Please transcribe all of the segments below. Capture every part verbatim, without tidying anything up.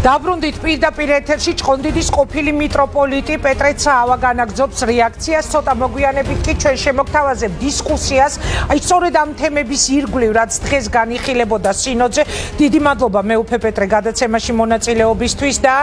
Დაბრუნდით პირდაპირ ეთერში ჭყონდიდის ყოფილი მიტროპოლიტი პეტრე ცაავა განაგრძობს რეაქციას, ცოტა მოგვიანებით კი ჩვენ შემოგთავაზებ დისკუსიას, აი სწორედ ამ თემების ირგვლივ, რაც დღეს განიხილებოდა სინოდზე. დიდი მადლობა მეუფე პეტრე გადაცემაში მონაწილეობისთვის და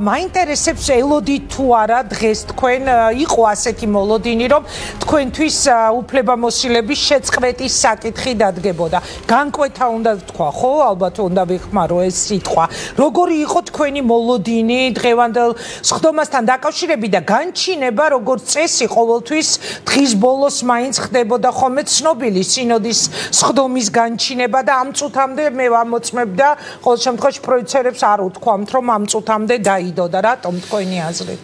მაინტერესებს ელოდით თუ არა დღეს თქვენ იყო ასეთი მოლოდინი, რომ თქვენთვის უფლებამოსილების შეწყვეტის საკითხი დადგებოდა. განკვეთა უნდა თქვა, ხო, ალბათ უნდა ვიხმარო ეს სიტყვა. როგორი იყო თქვენი მოლოდინი დღევანდელ სხდომასთან დაკავშირებით და განჩინება როგორც წესი ყოველთვის დღის ბოლოს მაინც ხდებოდა ხოლმე ცნობილი სინოდის სხდომის განჩინება და ამ წუთამდე მე ვამოწმებ და ყოველ შემთხვევაში პროდიუსერებს არ უთქვამთ რომ ამ წუთამდე დაიდო და რატომ თქვენი აზრით?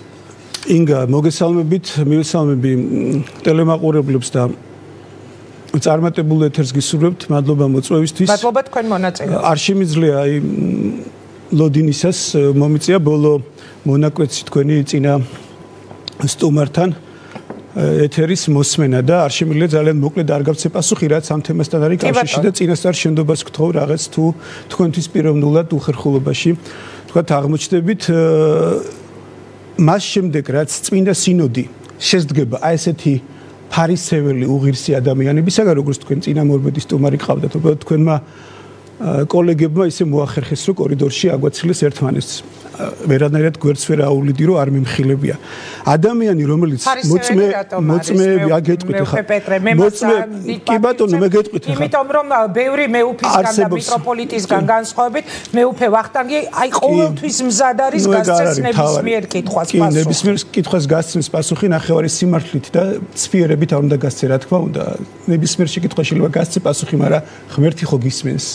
ინგა მოგესალმებით, მივესალმები ტელემაყურებლებს და წარმატებულ ეთერს გისურვებთ. მადლობა მოწვევისთვის. მადლობა თქვენ მონაწილეობისთვის. არ შემიძლია აი ლოდინისას მომიწია ბოლო მონაკვეთი თქვენი წინა სტუმართან ეთერის მოსმენა და არ შემიძლია ძალიან მოკლედ არ გავცე პასუხი რაც ამ თემასთან არის კავშირში და წინასწარ შენდობას გთხოვ რაღაც თუ თქვენთვის პიროვნულად უხერხულობაში თქვათ აღმოჩნდებით მას შემდეგ რაც წმინდა სინოდი შესდგება აი ესეთი ფარისეველი უღირსი ადამიანებისაგან როგორც თქვენ წინამორბედი სტუმარი გყავდათ უბრალოდ თქვენმა კოლეგებმა ისე მოახერხეს რომ კორიდორში აგვაცილეს ერთმანეთს ვერანაირად გვერდს ვერ აუვლიდი რომ არ მიმხილებია ადამიანი რომელიც მოწმე მოწმეები აგეტყვით ხა მოწმე კი ბატონო მე გეტყვით ხა იმიტომ რომ ბევრი მეუფისგან და მიტროპოლიტისგან განსხვავებით მეუფე ვახტანგი აი ყოველთვის მზად არის გასცეს ნებისმიერ კითხვას პასუხი კი ნებისმიერ კითხვას გასცემს პასუხი ნახევარი სიმართლით და ცფიერებით არ უნდა გასცე რა თქმა უნდა ნებისმიერ შეკითხვაში შეიძლება გასცე პასუხი მაგრამ ღმერთი ხო გისმენს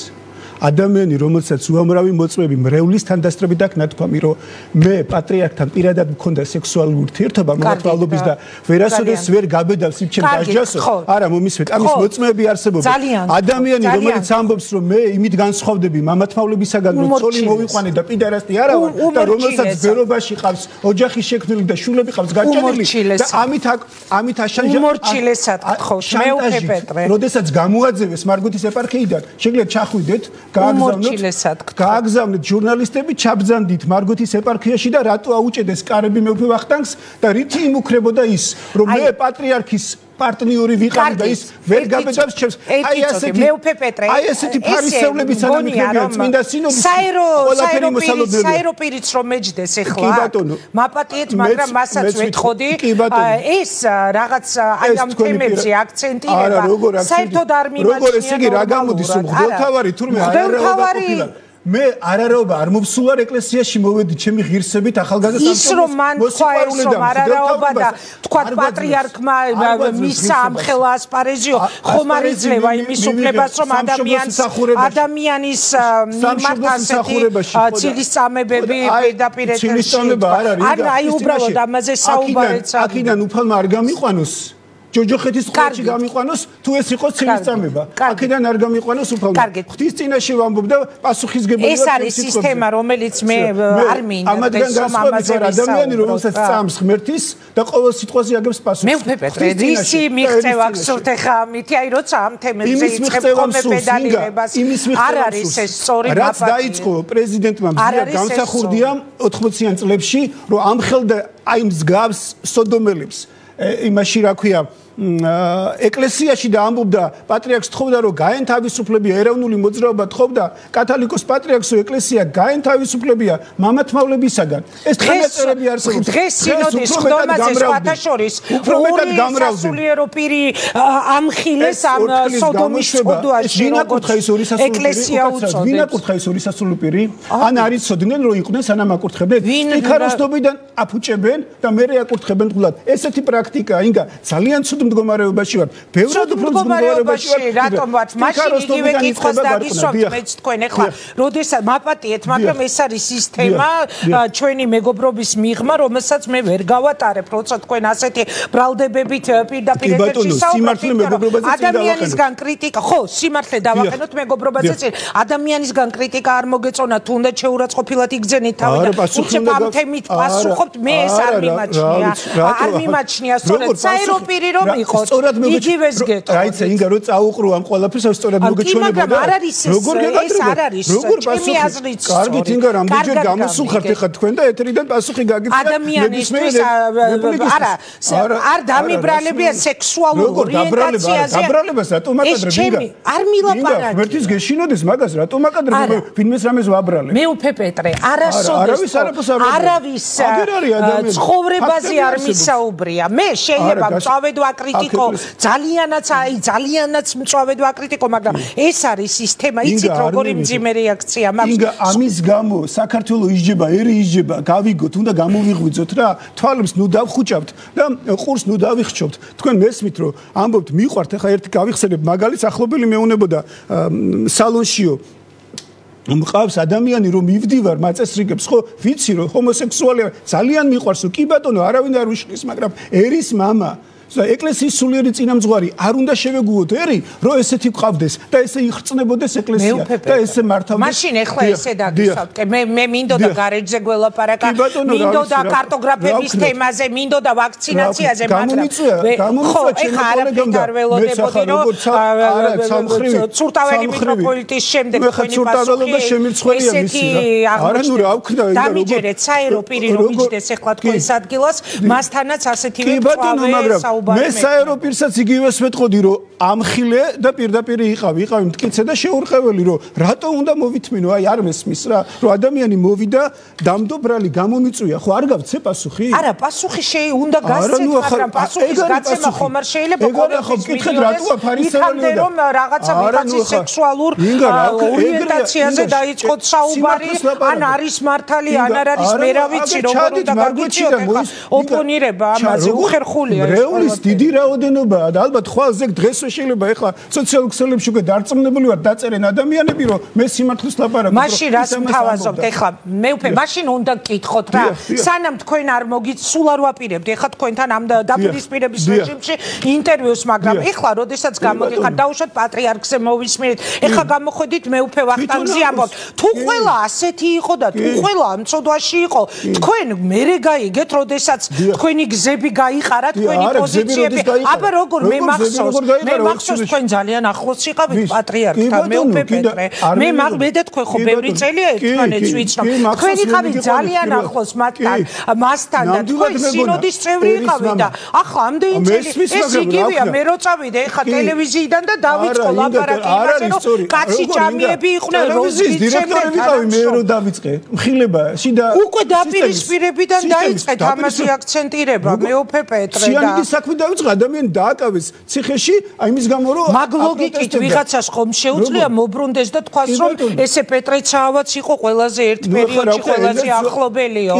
ადამიანი რომელსაც უამრავი მოწმეები მრევლის თანდასწრებით აქ ნათქვამი რომ მე პატრიარქთან პირადად მქონდა სექსუალური ურთიერთობა მომთვალობის და ვერასოდეს ვერ გაბედავს იმ ჩემ დასჯასო არა მომისმეთ ამის მოწმეები არსებობენ ადამიანი რომელიც ამბობს რომ მე იმით განსხვავდები მამათმავლებისაგან რომ ცოლი მოვიყვანე და პიდარასტი არა ვარ და რომელსაც ბერობაში ყავს ოჯახი შექმნილი და შულები ყავს გაჭედილი და ამით ამით აშანჯა უმორჩილესად გთხოვთ მეუფე პეტრე როდესაც გამოაძევეს მარგოთის ეპარქიიდან შეგიძლიათ ჩახვიდეთ გააგზავნეთ ჟურნალისტები ჩაბძანდით მარგოთის ეპარქიაში და რატო აუჭედეს კარები მეუფე ვახტანგს და რითი იმუქრებოდა ის რომ მე პატრიარქის პარტნიორი ვიყავი და ის ვერ გაბედავს ჩემს აი ასეთი მეუფე პეტრე აი ესეთი ფარისევლების ანამიქრებიან წმინდა სინოდის საერო საეროპირიც რომ მეჯდეს ეხლა მაპატიეთ მაგრამ მასაც ვეთხოვდი ეს რაღაც აი ამ თემებზე აქცენტირება საერთოდ არ მიმაჩნია როგორ ესე იგი რა გამოდის რომ მღვდელთავარი თურმე არაერთობა ყოფილა მე არაერთობა არ მოვსულა ეკლესიაში მოვედი ჩემი ღირსებით ახალგაზრდა სამწუხაროდ ის რომ მან თქვა ეს რომ არაერთობა და თქვა პატრიარქმა მისა ამხელა ასპარეზიო ხომ არ იძლევა იმის უფლებას რომ ადამიანს ადამიანის მიმართ ასეთი ცილისწამებები პირდაპირ ეთერში არ აი უბრალოდ ამაზე საუბარეც აქედან უფალმა არ გამიყვანოს ჯოჯოხეთის ყურში გამიყვანოს თუ ეს იყო ცილისწამება აქედან არ გამიყვანოს უფალმა ღვთის წინაშე ვამბობ და პასუხისგებელია ეს არის სისტემა რომელიც მე არ მინდა ეს ამაზე ადამიანი რომელსაც წამს ღმერთის და ყოველ სიტყვაზე აგებს პასუხს მე უფე პეტრე რისი მიღწევა გსურთ ახლა ამითი აი როცა ამ თემებზე იწყებ ხოლმე პედალირებას არ არის ეს სწორი მაპატი რაც დაიწყო პრეზიდენტმა მზია გამსახურდია ოთხმოციან წლებში რომ ამხელდა აი მსგავს სოდომელებს იმაში რა ქვია ეკლესიაში და ამბობდა პატრიარქს თხოვდა რომ გაენთავისუფლებია ეროვნული მოძრაობა თხოვდა კათოლიკოს პატრიარქსო ეკლესია გაენთავისუფლებია მამათმავლებისაგან ეს თანაწერები არსებობს დღეს სინოდის ხდომაზე სხვათა შორის ორი სასულიერო პირი ამხილეს ამ სოდომის წოდვაში ვინ აკურთხა ის ორი სასულიერო ვინ აკურთხა ის ორი სასულიერო პირი ან არ იცოდნენ რომ იყვნენ სანამ აკურთხებდნენ იქაროსნობიდან აფუჭებენ და მერე აკურთხებენ თულად ესეთი პრაქტიკაა ინგა ძალიან ცუდ მდგომარეობაში ვარ. ბევრად უფრო მდგომარეობაში ვარ. რატომ ვარ? მაშინ იგივე კითხვას დაგისვამთ მეც თქვენ ახლა. როდესაც მაპატიეთ, მაგრამ ეს არის სისტემა, ჩვენი მეგობრობის მიღმა, რომელსაც მე ვერ გავატარებ, როცა თქვენ ასეთი ბრალდებებით პირდაპირ ეთერში საუბრობთ. ადამიანისგან კრიტიკა, ხო, სიმართლე დავაყენოთ მეგობრობაზე წინ. ადამიანისგან კრიტიკა არ მოგეწონა, თუნდაც შეურაცხყოფილად იგზენით თავი და უცებ ამ თემით პასუხობთ, მე ეს არ მიმაჩნია. არ მიმაჩნია სწორედ საერო პირი რომ ვიყოთ. იგივეს გეტყვით. რაიცა ინგა რო წაუყრო ამ ყველაფერს სწორად მოგეჩვენებოდა. მაგრამ არ არის ეს არ არის. როგორ ჩემი აზრით სწორად. კარგით ინგა რამდენჯერ გამოსულხართ ეხლა თქვენ და ეთერიდან პასუხი გაგიწევთ. ადამიანისთვის არა არ დამიბრალებია სექსუალურ ორიენტაციაზე. დაბრალებას რატომ აკადრებ ინგა? არ მილაპარაკე. ღმერთის გეშინოდეს მაგას რატომ აკადრებ ვინმეს რამეს ვაბრალებ? მე უფე პეტრე არასოდეს არავის ცხოვრებაზე არ მისაუბრია. მე შეიძლება მწავედ ვაკრიტიკო ძალიანაც აი ძალიანაც მწავედ ვაკრიტიკო, მაგრამ ეს არის სისტემა. იცით როგორი მძიმე რეაქცია მაქვს. ინგა ამის გამო საქართველოს ისჯება, ერი ისჯება, გავიგოთ, უნდა გამოვიღვიძოთ რა. თვალებს ნუ დავხუჭავთ და ყურს ნუ დავიხჩობთ. თქვენ მესმით რომ ამბობთ მიყვართ, ახლა ერთი გავიხსენებ მაგალითს, ახლობელი მეუნებოდა სალონშიო მყავს ადამიანი რომ მივდივარ მაწესრიგებს ხო ვიცი რომ ჰომოსექსუალი ძალიან მიყვარს რომ კი ბატონო არავინ არ უშლის მაგრამ ერის მამა და ეკლესიის სულიერი წინამძღვარი არ უნდა შევეგუოთ ერი რომ ესეთი ყავდეს და ესე იხრწნებოდეს ეკლესია და ესე მართავდეს მაშინ ეხლა ესე დაგისავთ მე მე მინდოდა გარეჯზე გველაპარაკა მინდოდა კარტოგრაფების თემაზე მინდოდა ვაქცინაციაზე მაგრამ ხო ეხლა არაფერი არ ველოდებოდი რომ ცურტაველი მიტროპოლიტის შემდეგ თქვენი პასუხი ესეთი აღნიშნული დამიჯერეთ საერო პირი რომ მიჯდეს ეხლა თქვენს ადგილას მასთანაც ასეთივე წავე მე საერო პირსაც იგივეს ვეთყოდი რომ ამხილე და პირდაპირ იყავი იყავი მტკიცე და შეურყეველი რომ რატო უნდა მოვითმინო აი არ მესმის რა რომ ადამიანი მოვიდა დამდობრალი გამომიწვია ხო არ გავცე პასუხი არა პასუხი შეი უნდა გასცეთ მაგრამ პასუხის გაცემა ხომ არ შეიძლება ხო კითხეთ რატო აფარისერია რომ რაღაცა ვიღაცის სექსუალურ ორიენტაციაზე დაიწყოთ საუბარი ან არის მართალი ან არ არის მე რა ვიცი როგორ უნდა გაგვიჩიოთ ეხლა ოპონირება ამაზე უხერხულია ეს დიდი რაოდენობაა და ალბათ ხვალზე დღეს შეიძლება ეხლა სოციალურ ქსელებში უკვე დარწმუნებული ვარ დაწერენ ადამიანები რომ მე სიმართლეს ლაპარაკობ მაშინ რას მთავაზობთ ეხლა მე უფე მაშინ უნდა გკითხოთ რა სანამ თქვენ არ მოგიც სულ არ ვაპირებთ ეხლა თქვენთან ამ დაპირისპირების რეჟიმში ინტერვიუს მაგრამ ეხლა როდესაც გამოგიყართ დაუშვათ პატრიარქზე მოვისმინეთ ეხლა გამოходით მე უფე ვახტანგზე ამბობთ თუ ყველა ასეთი იყო და თუ ყველა ამ წოდვაში იყო თქვენ მერე გაიგეთ როდესაც თქვენი გზები გაიყარა თქვენი პოზიციები აბა როგორ მე მახსოვს მე მახსოვს თქვენ ძალიან ახლოს იყავით პატრიარქთან მე უფე პეტრე მე მე და თქვენ ხო ბევრი წელია ერთმანეთს ვიცნობ თქვენ იყავით ძალიან ახლოს მათთან მასთან და თქვენ სინოდის წევრი იყავით და ახლა ამდენი წელი ეს იგივეა მე რო წავიდე ეხლა ტელევიზიიდან და დავიწყო ლაპარაკი იმაზე რომ კაცი ჭამიები იყვნენ როზის დირექტორები ვიყავი მე რო დავიწყე მხილება შიდა უკვე დაპირისპირებიდან დაიწყეთ ამაზე აქცენტირება მე უფე პეტრე და საქმე დავიწყე ადამიანი დააკავეს ციხეში აი მის გამო რომ მაგ ლოგიკით ვიღაცას ხომ შეუძლია მობრუნდეს და თქვას რომ ესე პეტრეცაავაც იყო ყველაზე ერთ პერიოდში ყველაზე ახლობელიო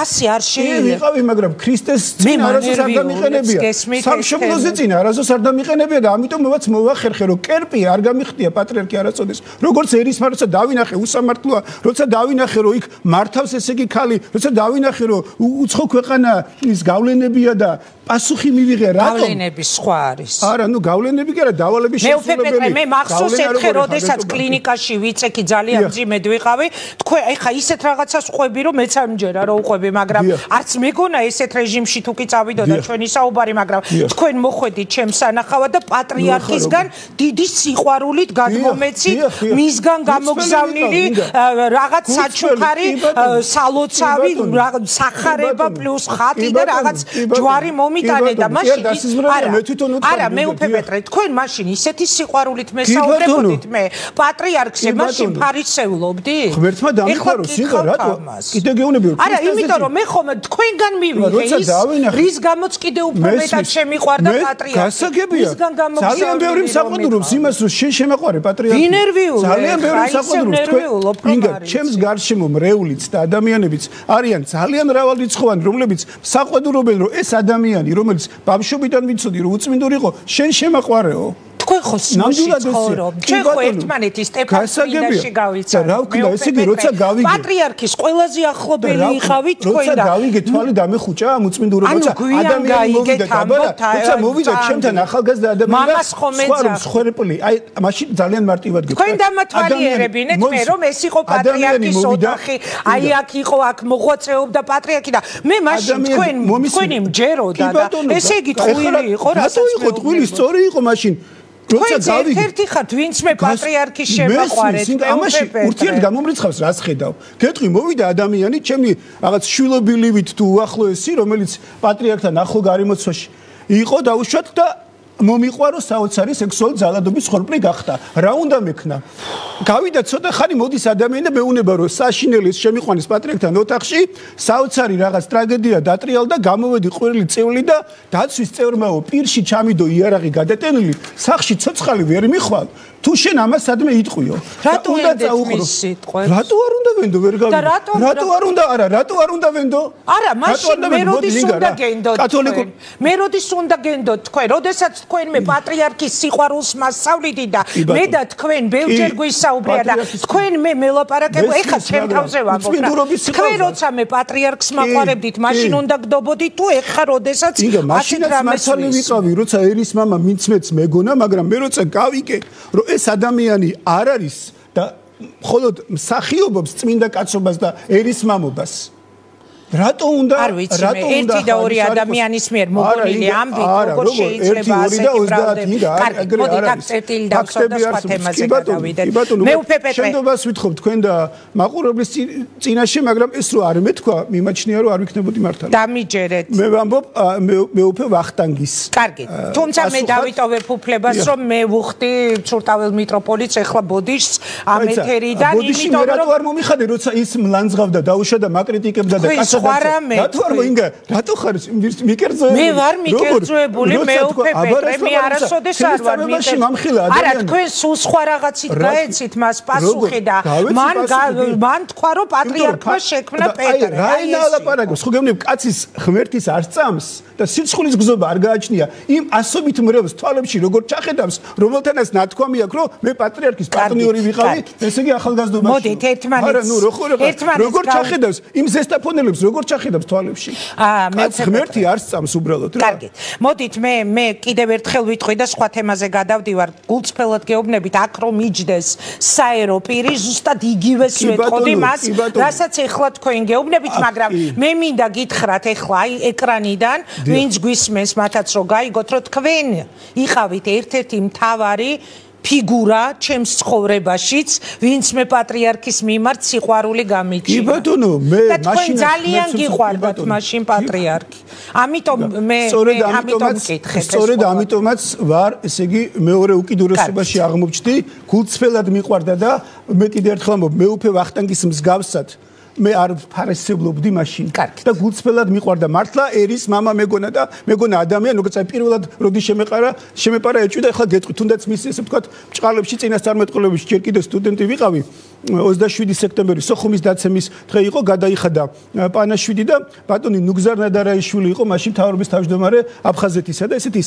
ასე არ შეიძლება იყავი მაგრამ ქრისტეს წინ არასოდეს არ დამიყენებია სამშობლოზე წინ არასოდეს არ დამიყენებია და ამიტომ მოვაც მოვახერხე რომ კერპი არ გამიხდია პატრიარქი არასოდეს როგორც ერისმარცა დავინახე უსამართლოა როცა დავინახე რომ იქ მართავს ესე იგი ქალი როცა დავინახე რომ უცხო ქვეყანა ის გავლენებია და პასუხი მივიღე რატომ გავლენები სხვა არის არა ნუ გავლენები კი არა დავალების შესრულებელი მე მახსოვს ერთხელ როდესაც კლინიკაში ვიწექი ძალიან მძიმედ ვიყავი თქვენ ეხა ისეთ რაღაცას ყვები რომ მეც არ მჯერა რომ უყვები მაგრამ არც მეგონა ესეთ რეჟიმში თუ კი წავიდოდა ჩვენი საუბარი მაგრამ თქვენ მოხვედით ჩემს სანახავად და პატრიარქისგან დიდი სიყვარულით გადმომეცით მისგან გამოგზავნილი რაღაც საჩუქარი სალოცავი სახარება პლუს ხატი და რაღაც ჯვარი მიტანე და მაშინ არა მე უფე პეტრე თქვენ მაშინ ისეთი სიყვარულით მესაუბრებოდით მე პატრიარქზე მაშინ ფარისეულობდი ღმერთმა დამიხარო სიღა რატო კიდე გეუბნები არა იმიტომ რომ მე ხომ თქვენგან მივიღე ის რის გამოც კიდე უფრო მეტად შემიყვარდა პატრიარქი გასაგებია ძალიან ბევრი საყვედურობს იმას რომ შენ შემაყვარე პატრიარქი ძალიან ბევრი საყვედურობს თქვენ ჩემს გარშემო მრეულიც და ადამიანებიც არიან ძალიან მრავალრიცხოვანი რომლებიც საყვედურობენ რომ ეს ადამიანი რომელიც ბავშვობიდან ვიცოდი რომ უწმინდური იყო შენ შემაყვარეო თქვენ ხო სმოში ცხოვრობთ ჩვენ ხო ერთმანეთის სტეფანში გავიცანთ რა ვქნა ესე იგი როცა გავიგე პატრიარქის ყველაზე ახლობელი იყავით თქვენ და როცა გავიგე თვალი დამეხუჭა მოწმინდურობა როცა ადამიანი მოვიდა დაბარა როცა მოვიდა ჩემთან ახალგაზრდა ადამიანი სხვა მსხვერპლი აი მაშინ ძალიან მარტივად გიქნა თქვენ დამათვალიერებინეთ მე რომ ეს იყო პატრიარქის ოთახი აი აქ იყო აქ მოღვაწეობდა პატრიარქი და მე მაშინ თქვენ თქვენი მჯეროდა და ესე იგი ტყუილი იყო რატო იყო ტყუილი სწორი იყო მაშინ როცა გავიგე ერთ-ერთი ხართ ვინც მე პატრიარქის შემაყვარეთ ამაში ურთიერთ გამომრიცხავს რას ხედავ გეტყვი მოვიდა ადამიანი ჩემი რაღაც შვილობილივით თუ უახლოესი რომელიც პატრიარქთან ახლო გარემოცვაში იყო დაუშვათ და მომიყვარო საოცარი სექსუალური ძალადობის ხორბლი გახდა რა უნდა მექნა გავიდა ცოტა ხანი მოდის ადამიანი და მეუნება რომ საშინელის შემიყვანის პატრიარქთან ოთახში საოცარი რაღაც ტრაგედია დატრიალდა გამოვედი ყვირილი წევლი და დაცვის წევრმაო პირში ჩამიდო იარაღი გადატენილი სახში ცოცხალი ვერ მიხვალ თუ შენ ამას სადმე იტყვიო რატო უნდა წაუხრო სიტყვებს რატო არ უნდა ვენდო ვერ გავიგე რატო არ უნდა არა რატო არ უნდა ვენდო არა მაშინ მე როდის უნდა გენდოთ კათოლიკურ მე როდის უნდა გენდოთ თქვენ როდესაც თქვენ მე პატრიარქის სიყვარულს მასწავლიდით და მე და თქვენ ბევრჯერ გვისაუბრია და თქვენ მე მელაპარაკებო ეხლა ჩემ თავზე ვამბობ თქვენ როცა მე პატრიარქს მაყვარებდით მაშინ უნდა გდობოდით თუ ეხლა როდესაც მაშინ მასალი ვიყავი როცა ერის მამა მიცმეც მეგონა მაგრამ მე როცა გავიგე რომ ეს ადამიანი არ არის და მხოლოდ მსახიობობს წმინდა კაცობას და ერის მამობას რატო უნდა არ ვიცი მე ერთი და ორი ადამიანის მიერ მოგონილი ამბით როგორ შეიძლება ასეთი ბრალდები კარგი მოდი დაგწერტილი დავსვათ და სხვა თემაზე გადავიდეთ მე უფე პეტრე შენდობას ვითხოვ თქვენ და მაყურებლის წინაშე მაგრამ ეს რო არ მეთქვა მიმაჩნია რომ არ ვიქნებოდი მართალი დამიჯერეთ მე ვამბობ მე უფე ვახტანგის კარგი თუმცა მე დავიტოვებ უფლებას რომ მე ვუხდი ცურტაվել მიტროპოლიტს ეხლა ბოდიშს ამ ეთერიდან იმიტომ რომ რატო არ მომიხადე როცა ის მლანძღავდა დაუშვა და მაკრიტიკებდა და კაცო ვარამე რატო არ მოინგა რატო ხარ მიკერძოებული მე ვარ მიკერძოებული მე უფე პეტრე მე არასოდეს არ ვარ მიკერძოებული არა თქვენ სულ სხვა რაღაცით გაეცით მას პასუხი და მან მან თქვა რომ პატრიარქმა შექმნა პეტრე რა ენა ლაპარაკობს ხო გეუბნები კაცის ღმერთის არ წამს და სიცხulis გზობა არ გააჩნია იმ ასობით მრევლს თვალებში როგორ ჩახედავს რომელთანაც ნათქვამი აქვს რომ მე პატრიარქის პარტნიორი ვიყავი ესე იგი ახალგაზრდობაში მოდით ერთმანეთს არა ნუ როგორ ჩახედავს იმ ზესტაფონელებს როგორ ჩახედავს თვალებში აა მე ღმერთი არ სწამს უბრალოდ რა კარგი მოდით მე მე კიდევ ერთხელ ვიტყვი და სხვა თემაზე გადავდივარ გულწრფელად გეუბნებით აქ რომ იჯდეს საერო პირი ზუსტად იგივეს ვეთყოდი მას რასაც ეხლა თქვენ გეუბნებით მაგრამ მე მინდა გითხრათ ეხლა აი ეკრანიდან ვინც გვისმენს მათაც რომ გაიგოთ რომ თქვენ იყავით ერთ-ერთი მთავარი ფიგურა ჩემს ცხოვრებაშიც ვინც მე პატრიარქის მიმართ სიყვარული გამიჩინა. კი ბატონო, მე მაშინ ძალიან გიყვარდათ მაშინ პატრიარქი. ამიტომ მე ამიტომ მკითხეთ. სწორედ ამიტომაც ვარ, ესე იგი, მეორე უკიდურესობაში აღმოჩნდი, გულწრფელად მიყვარდა და მე კიდევ ერთხელ ამბობ, მე უფე ვახტანგის მსგავსად მე არ ფარესებლობდი მაშინ და გულწრფელად მიყვარდა მართლა ერის мама მეგონა და მეგონა ადამიანი როგორც აი პირველად როდი შემეყარა შემეპარა ეჭვი და ახლა გეტყვი თუნდაც მის ესე ვთქვათ ბჭყალებში წინასწარმეტყველებში ჯერ კიდევ სტუდენტი ვიყავი ოცდაშვიდი სექტემბერი სოხუმის დაცემის დღე იყო გადაიხადა პანაშვიდი და ბატონი ნუგზარ ნადარაიშვილი იყო მაშინ მთავრობის თავმჯდომარე აფხაზეთისა და ესეთი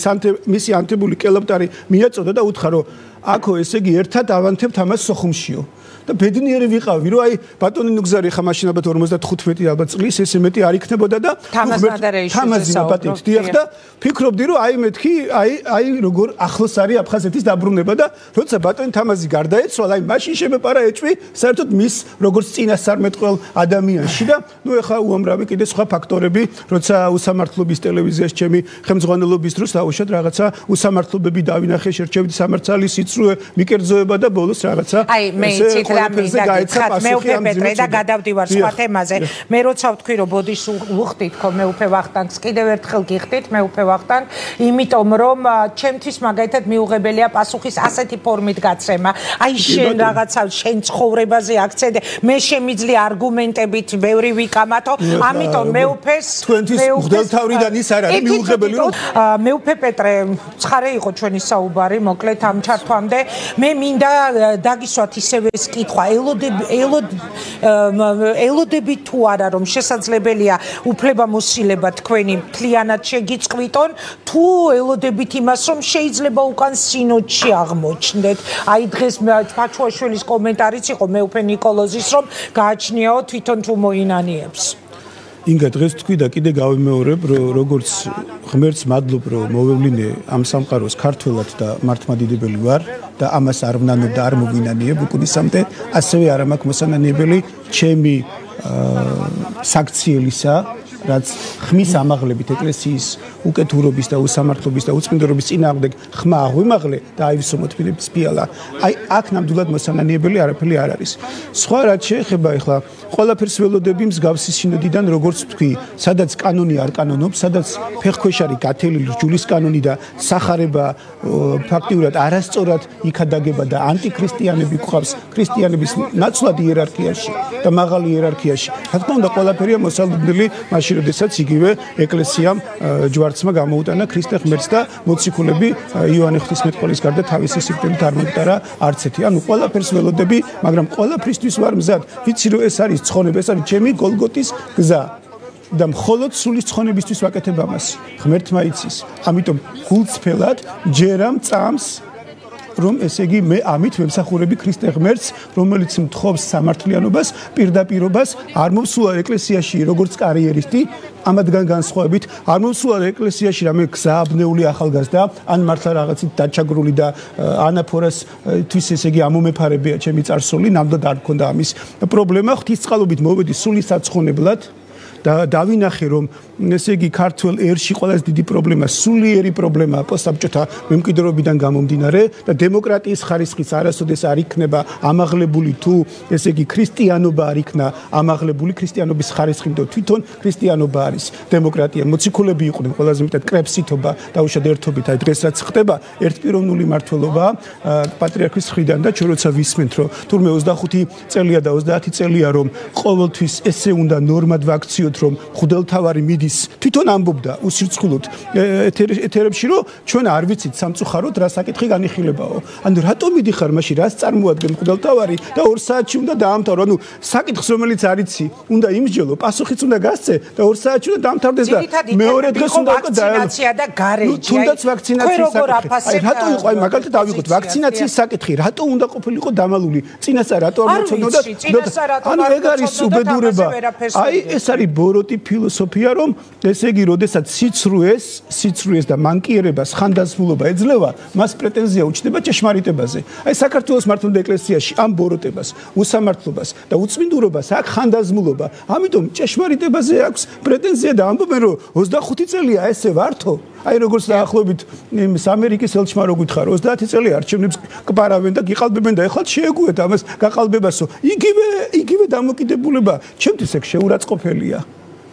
მისი ანთებული კელაპტარი მიაწოდა და უთხრა რომ აქო ესე იგი ერთად ავანთებთ ამას სოხუმშიო და ბედნიერი ვიყავი რომ აი ბატონი ნუგზარი ხა მაშინ ალბათ ორმოცდახუთი ალბათ წლის ესე მეტი არ იქნებოდა და თამაზი პატივით დიახ და ფიქრობდი რომ აი მეთქი აი აი როგორ ახლოს არის აფხაზეთის დაბრუნება და როცა ბატონი თამაზი გარდაეცვალა აი მაშინ შემეპარა ეჭვი საერთოდ მის როგორც წინასწარმეტყველ ადამიანში და ნუ ეხა უამრავი კიდე სხვა ფაქტორები როცა უსამართლობის ტელევიზიაში ჩემი ხელმძღვანელობის დროს დაუშვათ რაღაცა უსამართლობები დავინახე შერჩევით სამართალი სიცრუე მიკერძოება და ბოლოს რაღაცა აი მე იცით მე უფე პეტრე და გადავდივარ სხვა თემაზე მე როცა ვთქვი რომ ბოდიშს უხდით ხო მე უფე ვახტანგს კიდევ ერთხელ გიხდით მე უფე ვახტანგ იმიტომ რომ ჩემთვის მაგალითად მიუღებელია პასუხის ასეთი ფორმით გაცემა აი შენ რაღაცა შენ ცხოვრებაზე აქცენტი მე შემიძლია არგუმენტებით ბევრი ვიკამათო ამიტომ მე უფეს თქვენთვის მღვდელთავრიდან ის არ არის მიუღებელი რომ მე უფე პეტრე ცხარე იყო ჩვენი საუბარი მოკლედ ამ ჩართვამდე მე მინდა დაგისვათ ისევე კითხვა ელოდები ელოდ ელოდებით თუ არა რომ შესაძლებელია უფლებამოსილება თქვენი მთლიანად შეგიწყვიტონ თუ ელოდებით იმას რომ შეიძლება უკან სინოდში აღმოჩნდეთ აი დღეს ფაჩუაშვილის კომენტარიც იყო მეუფე ნიკოლოზის რომ გააჩნიაო თვითონ თუ მოინანიებს ინგა დღეს თქვი და კიდე გავიმეორებ როგორც ღმერთს მადლობ რომ მოვევლინე ამ სამყაროს ქართველად და მართლმადიდებელი ვარ და ამას არ ვნანებ და არ მოვინანიებ უკუნისამდე ასევე არ მაქვს მოსანანიებელი ჩემი საქციელისა რაც ხმის ამაღლებით ეკლესიის უკეთურობის და უსამართლობის და უწმინდრობის წინააღმდეგ ხმა აღვიმაღლე და აივსო მოთმინების ფიალა აი აქ ნამდვილად მოსანანიებელი არაფერი არ არის სხვა რაც შეეხება ეხლა ყველაფერს ველოდები მსგავსი სინოდიდან როგორც თქვი სადაც კანონი არ კანონობს სადაც ფეხქვეშ არის გათელილი რჯულის კანონი და სახარება ფაქტიურად არასწორად იქადაგება და ანტიქრისტიანები გვყავს ქრისტიანების ნაცვლად იერარქიაში და მაღალი იერარქიაში რა თქმა უნდა ყველაფერია მოსალოდნელი მაშინ როდესაც იგივე ეკლესიამ ჯვარცმა გამოუტანა ქრისტე ღმერთს და მოციქულები იოანე ღვთისმეტყველის გარდა თავისი სიკვდილით არ მომტარა არც ერთი ანუ ყველაფერს ველოდები მაგრამ ყველაფრისთვის ვარ მზად ვიცი რომ ეს არის ცხონება ეს არის ჩემი გოლგოთის გზა და მხოლოდ სული ცხონებისთვის ვაკეთებ ამას ღმერთმა იცის ამიტომ გულწრფელად ჯერამ წამს რომ ესე იგი მე ამით ვემსახურები ქრისტე ღმერთს რომელიც მთხოვს სამართლიანობას პირდაპირობას არ მომსულა ეკლესიაში როგორც კარიერისტი ამათგან განსხვავებით არ მომსულა ეკლესიაში რამე გზააბნეული ახალგაზრდა ან მართლა რაღაცით დაჩაგრული და ანაფორას თვის ესე იგი ამომეფარებია ჩემი წარსული ნამდვილად არ მქონდა ამის პრობლემა ღვთისწყალობით მოვედი სული საცხონებლად და დავინახე რომ ესე იგი ქართულ ერში ყველაზე დიდი პრობლემა სულიერი პრობლემაა პოსტსაბჭოთა მემკვიდრეობიდან გამომდინარე და დემოკრატიის ხარისხიც არასოდეს არ იქნება ამაღლებული თუ ესე იგი ქრისტიანობა არ იქნა ამაღლებული ქრისტიანობის ხარისხი და თვითონ ქრისტიანობა არის დემოკრატია მოციქულები იყვნენ ყველაზე მეტად კრებსითობა დაუშვათ ერთობით აი დღეს რაც ხდება ერთპიროვნული მართლობა პატრიარქის მხრიდან და ჩვენ როცა ვისმენთ რომ თურმე ოცდახუთი წელია და ოცდაათი წელია რომ ყოველთვის ესე უნდა ნორმად ვაქციოთ რომ ხუდელთავარი მიდის თვითონ ამბობდა უსირცხულოდ ეთერებში რომ ჩვენ არ ვიცით სამწუხაროდ რა საკითხი განიხილებაო ანუ რატომ მიდიხარ მაშინ რას წარმოადგენ ხუდელთავარი და ორ საათში უნდა დაამთავრო ანუ საკითხს რომელიც არიცი უნდა იმსჯელო პასუხიც უნდა გასცე და ორ საათში უნდა დაამთავრდეს და მეორე დღეს უნდა ვაქცინაცია და გარეჯი თუნდაც ვაქცინაციის საკითხი აი რატო იყო აი მაგალითად ავიღოთ ვაქცინაციის საკითხი რატო უნდა ყოფილიყო დამალული წინასწარ რატო არ მოცნოდა ანუ ეგ არის უბედურება აი ეს არის ბოროტი ფილოსოფია რომ ესე იგი როდესაც სიცრუეს სიცრუეს და მანკიერებას ხანდაზმულობა ეძლევა მას პრეტენზია უჩნდება ჭეშმარიტებაზე აი საქართველოს მართლმადიდებელი ეკლესიაში ამ ბოროტებას უსამართლობას და უწმინდურობას აქ ხანდაზმულობა ამიტომ ჭეშმარიტებაზე აქვს პრეტენზია და ამბობენ რომ ოცდახუთი წელია ესე ვართო აი როგორც დაახლოებით იმ ამერიკის ელჩმა რო გითხარ ოცდაათი წელი არჩევნებს კბარავენ და გიყალბებენ და ეხლა შეეგუეთ ამას გაყალბებასო იგივე იგივე დამოკიდებულება ჩემთვის ეგ შეურაცხყოფელია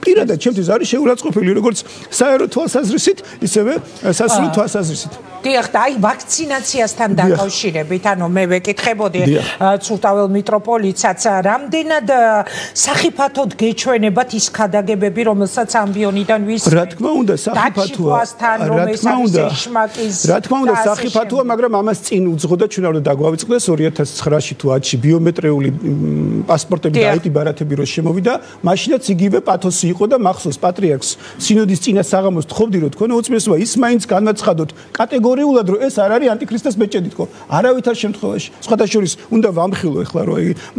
პირადად ჩემთვის არის შეურაცხყოფელი როგორც საერო თვალსაზრისით ისევე სასულო თვალსაზრისით დიახ და აი ვაქცინაციასთან დაკავშირებით ანუ მე ვეკითხებოდი ცურტაվել მიტროპოლიტსაც რამდენად სახიფათოდ გეჩვენებათ ის ქადაგებები რომელსაც ამბიონიდან ვის რა თქმა უნდა სახიფათოა რა თქმა უნდა რა თქმა უნდა სახიფათოა მაგრამ ამას წინ უძღოდა ჩვენ არ დაგვავიწყდეს ორი ათას ცხრაში თუ ათში ბიომეტრიული პასპორტები და აიტი ბარათები რო შემოვიდა მაშინაც იგივე პათოსი იყო და მახსოვს პატრიარქს სინოდის წინა საღამოს თხოვდი რომ თქვენ უწმესობა ის მაინც განაცხადოთ კატეგორიულად რომ ეს არ არის ანტიქრისტეს ბეჭედი თქო არავითარ შემთხვევაში სხვათა შორის უნდა ვამხილო ეხლა რომ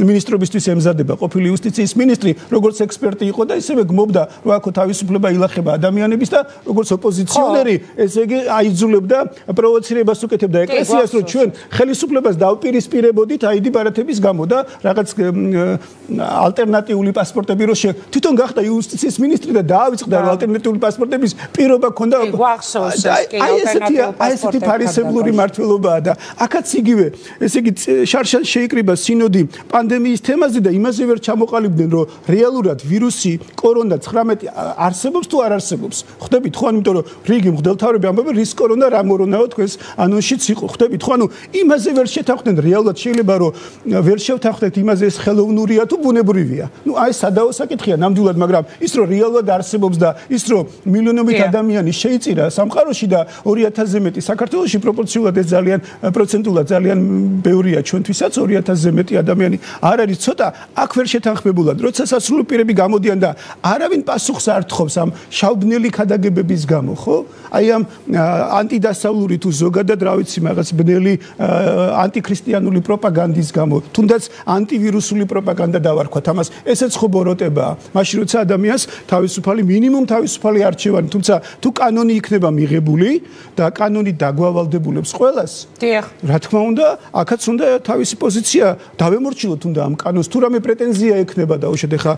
მინისტრობისთვის ემზადება ყოფილი იუსტიციის მინისტრი როგორც ექსპერტი იყო და ისევე გმობდა რომ აქ თავისუფლება ილახება ადამიანების და როგორც ოპოზიციონერი ესე იგი აიძულებდა პროვოცირებას უკეთებდა ეკლესიას რომ ჩვენ ხელისუფლებას დავპირისპირებოდით აიდი ბარათების გამო და რაღაც ალტერნატიული პასპორტები რო თვითონ გახდა იუსტიციის მინისტრი და დაავიწყდა რომ ალტერნატიული პასპორტების პირობა ქონდა აი ესეთი აი ესეთი ფარისებლური მართლობაა და აქაც იგივე ესე იგი შარშან შეიკრიბა სინოდი პანდემიის თემაზე და იმაზე ვერ ჩამოყალიბდნენ რომ რეალურად ვირუსი კორონა ცხრამეტი არსებობს თუ არ არსებობს ხვდებით ხო ანუ იმიტომ რომ რიგი მღვდელთავრები ამბობენ რის კორონა რა მორონაო თქვენს ანონშიც იყო ხვდებით ხო ანუ იმაზე ვერ შეთანხმდნენ რეალურად შეიძლება რომ ვერ შევთანხმდეთ იმაზე ეს ხელოვნურია თუ ბუნებრივია ნუ აი სადაო საკითხია ნამდვილად მაგრამ ის რომ რეალურად არსებობს და ის რომ მილიონობით ადამიანი შეიწირა სამყაროში და ორი ათასზე მეტი საქართველოში პროპორციულად ეს ძალიან პროცენტულად ძალიან ბევრია ჩვენთვისაც ორი ათასზე მეტი ადამიანი არ არის ცოტა აქ ვერ შეთანხმებულად როცა სასულიერო პირები გამოდიან და არავინ პასუხს არ თხოვს ამ შავბნელი ქადაგებების გამო ხო აი ამ ანტიდასავლური თუ ზოგადად რა ვიცი რაღაც ბნელი ანტიქრისტიანული პროპაგანდის გამო თუნდაც ანტივირუსული პროპაგანდა დავარქვათ ამას ესეც ხო ბოროტებაა მაშინ როცა ადამიანს თავისუფალი მინიმუმ თავისუფალი არჩევანი თუმცა თუ კანონი იქნება მიღებული და კანონი დაგვავალდებულებს ყველას დიახ რა თქმა უნდა აქაც უნდა თავისი პოზიცია დავემორჩილოთ უნდა ამ კანონს თუ რამე პრეტენზია ექნება დაუშვათ ახლა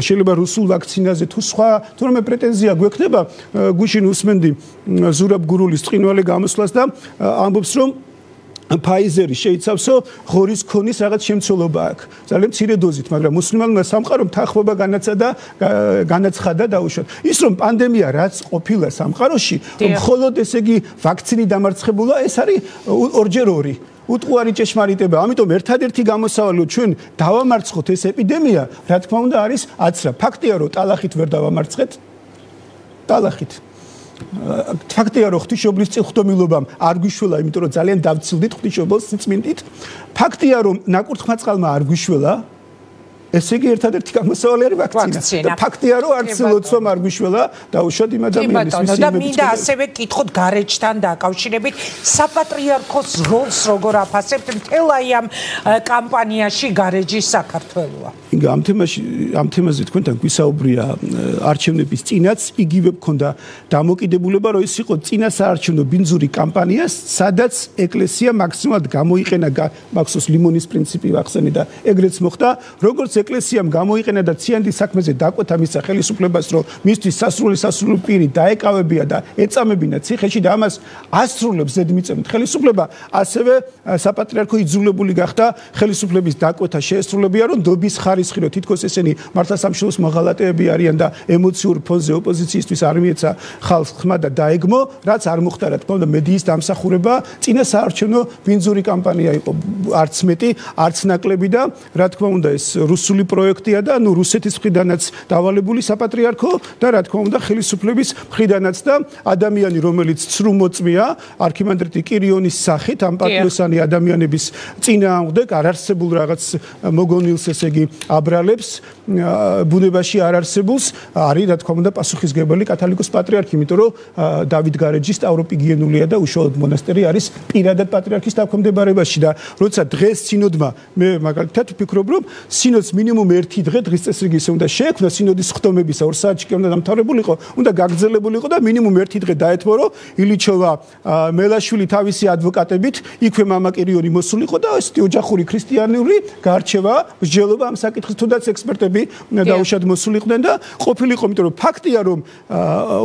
შეიძლება რუსულ ვაქცინაზე თუ სხვა თუ რამე პრეტენზია გვექნება გუშინ უსმენდი ზურაბ გურულის წინვალე გამოსვლას და ამბობს რომ Pfizer-ი შეიცავსო ღორის ქონის რაღაც შემცველობა აქვს. ძალიან მცირე დოზით, მაგრამ მუსლიმანმა სამყარომ თანხმობა განაცხადა განაცხადა დაუშვათ. ის რომ პანდემია რაც ყოფილა სამყაროში, მხოლოდ ესე იგი ვაქცინი დამარცხებულა, ეს არის ორჯერ ორი. უტყუარი ჭეშმარიტება. ამიტომ ერთადერთი გამოსავალი ჩვენ დავამარცხოთ ეს ეპიდემია, რა თქმა უნდა არის აცრა. ფაქტია რომ ტალახით ვერ დავამარცხეთ. ტალახით ფაქტია რომ ღვთისმშობლის წილხდომილობამ არ გვიშველა, იმიტომ რომ ძალიან დავცილდით ღვთისმშობლის სიწმინდით. ფაქტია რომ ნაკურთხმა წყალმა არ გვიშველა. ესე იგი ერთადერთი გამოსავალი არის ვაქცინა. და ფაქტია რომ არც ლოცვამ არ გვიშველა დაუშვათ იმ ადამიანის მისიების. და მინდა ასევე კითხოთ გარეჯთან დაკავშირებით საპატრიარქოს როლს როგორ აფასებთ მთელ აი ამ კამპანიაში გარეჯის საქართველოა. ინგა ამ თემაში ამ თემაზე თქვენთან გვისაუბრია არჩევნების წინაც იგივე მქონდა დამოკიდებულება რომ ის იყო წინასაარჩევნო ბინძური კამპანია სადაც ეკლესია მაქსიმალურად გამოიყენა მაქსოს ლიმონის პრინციპი ვახსენე და ეგრეც მოხდა როგორც ეკლესიამ გამოიყენა და ციანდის საქმეზე დაკვეთა მისცა ხელისუფლებას რომ მისთვის სასრული სასრული პირი დაეკავებია და ეწამებინა ციხეში და ამას ასრულებს ზედმიწევნით ხელისუფლება ასევე საპატრიარქო იძულებული გახდა ხელისუფლების დაკვეთა შეესრულებია რომ დობის ხარისხი რომ თითქოს ესენი მართლმსაჯულოს მოღალატეები არიან და ემოციურ ფონზე ოპოზიციისთვის არ მიეცა ხალხს ხმა და დაეგმო რაც არ მოხდა რა თქმა უნდა მედიის დამსახურება წინასაარჩევნო ბინძური კამპანია იყო არც მეტი არც ნაკლები და რა თქმა უნდა ეს რუსული პროექტია და ნუ რუსეთის მხრიდანაც დავალებული საპატრიარქო და რა თქმა უნდა ხელისუფლების მხრიდანაც და ადამიანი რომელიც ცრუ მოწმეა არქიმანდრიტი კირიონის სახით ამ პატიოსანი ადამიანების წინააღმდეგ არ არსებულ რაღაც მოგონილს ესე იგი აბრალებს ბუნებაში არ არსებულს არის რა თქმა უნდა პასუხისგებელი კათოლიკოს პატრიარქი იმიტომ რომ დავით გარეჯი სტავროპიგენულია და უშუალოდ მონასტერი არის პირადად პატრიარქის დაქვემდებარებაში და როცა დღეს სინოდმა მე მაგალითად ვფიქრობ რომ სინოდს მინიმუმ ერთი დღე დღის წესრიგის უნდა შეექმნა სინოდის ხდომებისა ორ საათში კი უნდა დამთავრებულიყო უნდა გაგრძელებულიყო და მინიმუმ ერთი დღე დაეთმო რომ ილიჩოვა მელაშვილი თავისი ადვოკატებით იქვე მამა კირიონი მოსულიყო და ესეთი ოჯახური ქრისტიანული გარჩევა მსჯელობა ამ საკითხის თუნდაც ექსპერტები დაუშვათ მოსულიყვნენ და ყოფილიყო იმიტომ რომ ფაქტია რომ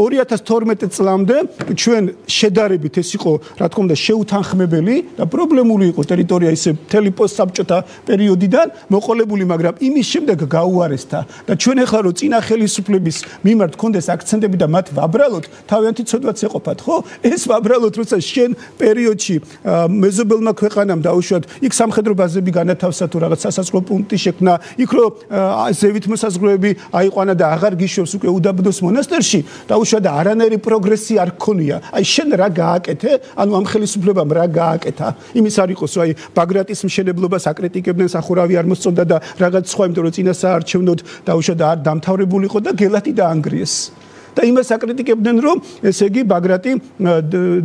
ორი ათას თორმეტი წლამდე ჩვენ შედარებით ეს იყო რა თქმა უნდა შეუთანხმებელი და პრობლემული იყო ტერიტორია ისე მთელი პოსტსაბჭოთა პერიოდიდან მოყოლებული მაგრამ იმის შემდეგ გაუარესდა და ჩვენ ახლა რო წინა ხელისუფლების მიმართ გქონდეს აქცენტები და მათ ვაბრალოთ თავიანთი ცოდვაც ეყოფათ ხო ეს ვაბრალოთ როცა შენ პერიოდში მეზობელმა ქვეყანამ დაუშვათ იქ სამხედრო ბაზები განათავსა თუ რაღაც სასაზღვრო პუნქტი შექმნა იქ რო ზევით მოსაზღვრეები აიყვანა და აღარ გიშვებს უკვე უდაბნოს მონასტერში დაუშვათ და არანაირი პროგრესი არ ქონია აი შენ რა გააკეთე ანუ ამ ხელისუფლებამ რა გააკეთა იმის არ იყოს აი ბაგრატის მშენებლობას აკრიტიკებდნენ სახურავი არ მოსწონდა და რაღაც სხვა იმიტომ რომ წინასაარჩევნოდ დაუშვათ და არ დამთავრებულიყო და გელათი დაანგრიეს და იმას აკრიტიკებდნენ რომ ესე იგი ბაგრატი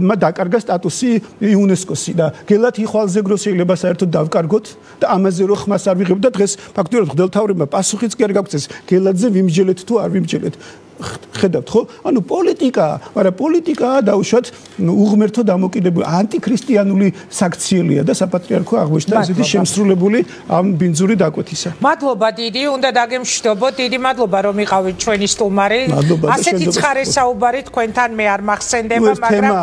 მა დაკარგა სტატუსი იუნესკოსი და გელათი ხვალზე გრო შეიძლება საერთოდ დავკარგოთ და ამაზე რო ხმას არ ვიღებ და დღეს ფაქტობრივად ღმერთთავრებმა პასუხიც კი არ გაგვწეს გელათზე ვიმჯელეთ თუ არ ვიმჯელეთ ხედავთ ხო? ანუ პოლიტიკა, მაგრამ პოლიტიკა დაუშვათ უღმერთო დამოკიდებული ანტიქრისტიანული საქციელია და საპატრიარქო აღმოჩნდა ესეთი შემსრულებული ამ ბინძური დაკვეთისა. მადლობა დიდი, უნდა დაგემშვიდობოთ. დიდი მადლობა რომ იყავით ჩვენი სტუმარი. ასეთი ცხარე საუბარი თქვენთან მე არ მახსენდება, მაგრამ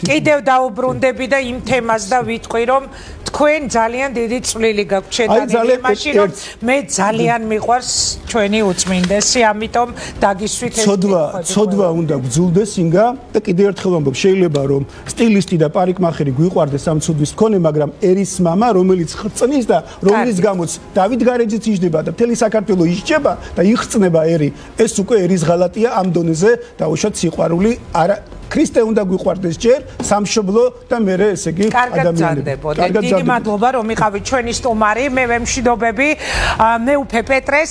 კიდევ დაუბრუნდები და იმ თემას და ვიტყვი რომ თქვენ ძალიან დიდი წვლილი გაქვთ შეტანილი იმაში რომ მე ძალიან მიყვარს ჩვენი უწმინდესი, ამიტომ დაგისვით ეს ცოდვა ცოდვა უნდა გძულდეს ინგა და კიდევ ერთხელ ვამბობ შეიძლება რომ სტილისტი და პარიკმახერი გვიყვარდეს ამ ცოდვის მქონე მაგრამ ერის მამა რომელიც ხრწნის და რომელიც გამოც დავით გარეჯიც იჯდება და მთელი საქართველო ისჯება და იხწნება ერი ეს უკვე ერის ღალატია ამ დონეზე დაუშვათ სიყვარული არა ქრისტე უნდა გვიყვარდეს ჯერ სამშობლო და მერე ესე იგი ადამიანები. დიდი მადლობა რომ იყავით ჩვენი სტუმარი. მე ვემშვიდობები მეუფე პეტრეს